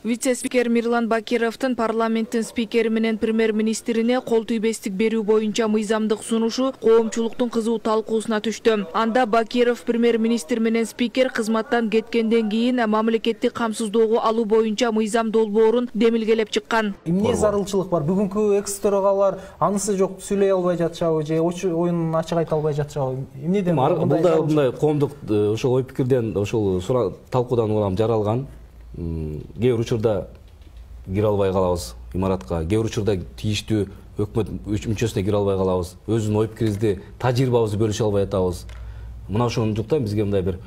Вице-спикер Мирлан Бакировдун парламенттин спикери менен премьер-министрине кол тийбестик берүү боюнча мыйзамдык сунушу коомчулуктун кызуу талкуусуна түштү. Анда Бакиров премьер-министр менен спикер кызматтан кеткенден кийин мамлекеттик камсыздоого алуу боюнча мыйзам долбоорун демилгелеп чыккан. Эмне зарылчылык бар? Бүгүнкү экс-төрагалар анысы жок сүйлөй албай жатышабы же оюн ачык айта албай жатышабы? Эмнеден мындай коомдук ошол ой пикирден ошол талкуудан улам жаралган. Кээ бир учурда кире албай калабыз имаратка, кээ бир учурда тийиштүү өкмөт мүчөсүнө кире албай калабыз, өзүнүн ой пикирибизди, тажрыйбабызды бөлүшө албай атабыз. Мына ошондуктан бизге мындай бир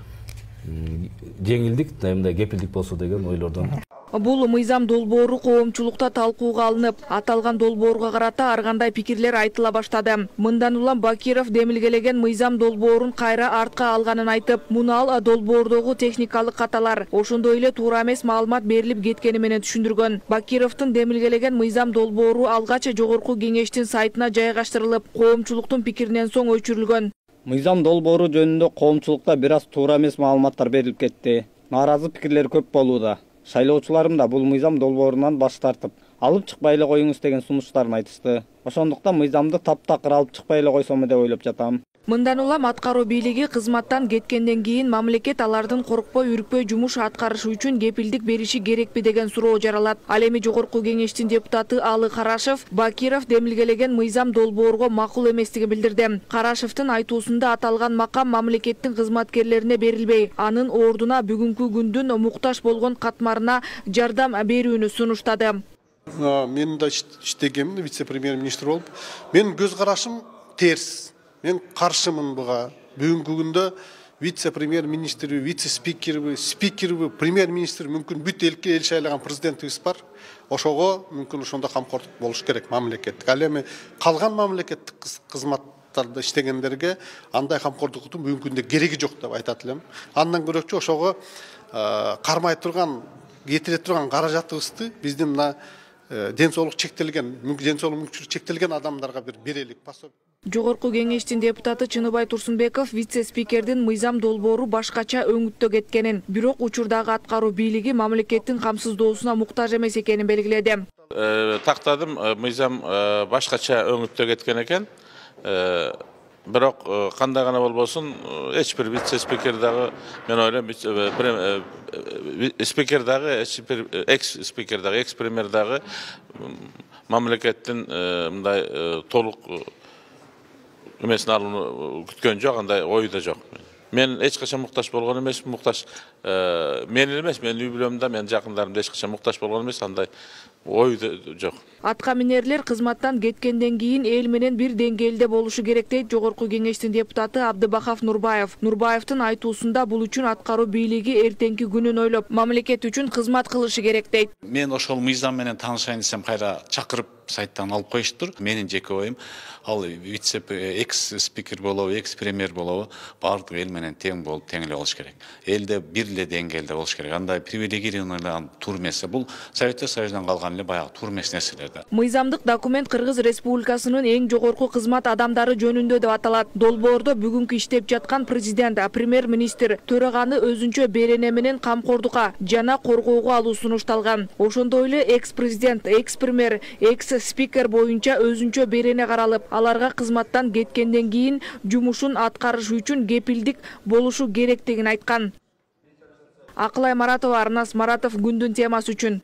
жеңилдик, мындай кепилдик болсо деген ойлордон. Бул мыйзам долбоору коомчулукта талкууга алынып, аталган долбоорго карата ар кандай пикирлер айтыла баштады. Мындан улам Бакиров демилгелеген мыйзам долбоорун кайра артка алганын айтып, муну долбоордогу техникалык каталар, ошондой эле туура эмес маалымат берилип кеткени менен түшүндүргөн. Бакировдун демилгелеген мыйзам долбоору алгач жогорку кеңештин сайтына жайгаштырылып, коомчулуктун пикиринен соң өчүрүлгөн. Мыйзам долбоору жөнүндө коомчулукта бир аз туура эмес маалыматтар берилип кетти. Нааразы пикирлер көп болууда. Шайлоочуларым да бул мыйзам долбоорунан баш тартып, алып чыкпай эле коюңуз деген сунуштарын айтышты. Ошондуктан мыйзамды таптакыр алып чыкпай эле койсомбу деп ойлоп жатам. Мындан улам аткаруу бийлиги кызматтан кеткенден кийин мамлекет алардын коркпой, үрүкпөй жумуш аткарышы үчүн кепилдик бериши керекпи деген суроо жаралат. Ал эми жогорку кеңештин депутаты Алы Карашев Бакиров демилгелеген мыйзам долбоорго макул эместигин билдирди. Карашевдин айтуусунда аталган макам мамлекеттин кызматкерлерине берилбей, анын ордуна бүгүнкү күндүн муктаж болгон катмарына жардам берүүнү сунуштады. Мен да иштегем, вице-премьер-министр болуп, менин көз карашым терс. Мен каршымын буга. Бүгүнкү күндө вице-премьер-министр, вице-спикер, премьер-министр мүмкүн бүт элге эл шайлаган президентибиз бар. Ошого мүмкүн ошондо камкордук болуш керек мамлекеттик. Ал эми калган мамлекеттик кызматтарда иштегендерге андай камкордуктун бүгүнкү күндө кереги жок деп айтат элем. Андан көрөчү ошого кармай турган, кетире турган каражатыбызды биздин мына ден соолук чектелген, ден соолук мүмкүнчүлүгү чектелген адамдарга бир берелик. Жогорку кеңештин депутаты Чыныбай Турсунбеков вице-спикердин мыйзам долбоору башкача өңүттө кеткенин, бирок учурдагы аткаруу бийлиги мамлекеттин камсыздоосуна муктаж эмес экенин белгиледи. Тактадым, мыйзам башкача өңүттө кеткен экен. Бирок кандай гана болбосун, эч бир вице-спикер дагы, мен ойлойм, спикер дагы, экс-спикер дагы, экс-премьер дагы мамлекеттин мындай толук эмесин алууну күткөн жок, андай ою да жок. Мен эч качан муктаж болгон эмес, муктаж мен эмес, менин үй бүлөмдө, менин жакындарымда эч качан муктаж болгон эмес, андай ой да жок. Атка минерлер кызматтан кеткенден кийин эл менен бир деңгээлде болушу керек дейт жогорку кеңештин депутаты Абдыбахов Нурбаев. Нурбаевдин айтуусунда бул үчүн аткаруу бийлиги эртеңки күнүн ойлоп, мамлекет үчүн кызмат кылышы керек дейт. Мен ошол мыйзам менен таанышайын десем кайра чакырып сайттан алып коюштур. Менин жеке оюм, ал экс-спикер болобу, экс-премьер болобу, баардык эл менен тең болуп, тең эле болуш керек. Элде бир эле деңгээлде болуш керек. Андай привилегированный тур эмес. Бул Советтер Союзунан калган эле баягы тур эмес нерселер да. Мыйзамдык документ Кыргыз Республикасынын эң жогорку кызмат адамдары жөнүндө деп аталат. Долбоордо бүгүнкү иштеп жаткан президент, премьер-министр, төраганы өзүнчө берене менен камкордукка жана коргоого алуу сунушталган. Ошондой эле экс-президент, экс-премьер, экс-спикер боюнча өзүнчө берене каралып, аларга кызматтан кеткенден кийин жумушун аткарыш үчүн кепилдик болушу керектигин айткан. Акылай Маратова, Арнас Маратов, күндүн темасы үчүн.